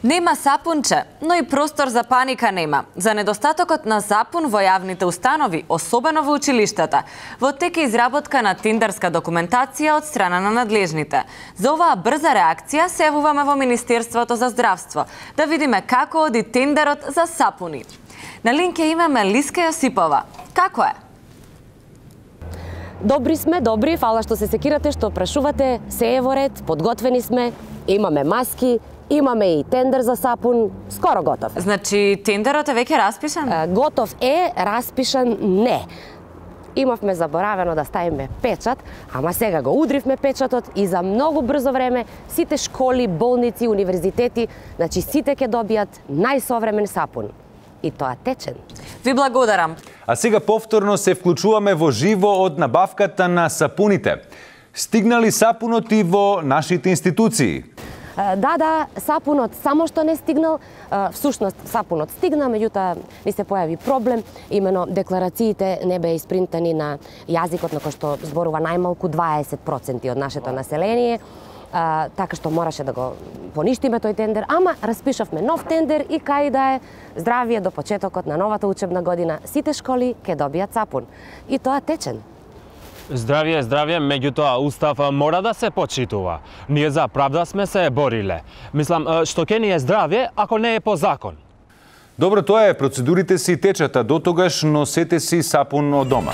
Нема сапунче, но и простор за паника нема. За недостатокот на сапун во јавните установи, особено во училиштата, во тек е изработка на тендерска документација од страна на надлежните. За оваа брза реакција се јавуваме во Министерството за здравство, да видиме како оди тендерот за сапуни. На линк имаме Лиска Јосипова. Како е? Добри сме, добри, фала што се секирате, што прашувате, се е во ред, подготвени сме, имаме маски, имаме и тендер за сапун, скоро готов. Значи, тендерот е веќе распишан? Готов е, распишан не. Имавме заборавено да ставиме печат, ама сега го удривме печатот и за многу брзо време сите школи, болници, универзитети, значи сите ќе добијат најсовремен сапун. И тоа течен. Ви благодарам. А сега повторно се вклучуваме во живо од набавката на сапуните. Стигнали сапунот и во нашите институции? Да, сапунот само што не стигнал, всушност сапунот стигна, меѓутоа ни се појави проблем, имено декларациите не беа испринтани на јазикот на кој што зборува најмалку 20% од нашето население, така што мораше да го поништиме тој тендер, ама распишавме нов тендер и кај да е здравие до почетокот на новата учебна година, сите школи ќе добијат сапун. И тоа течен. Здравје, меѓутоа устав мора да се почитува. Ние за правда сме се бориле. Мислам, што ќе ни е здравје ако не е по закон. Добро, тоа е, процедурите си течат, а дотогаш носете си сапун од дома.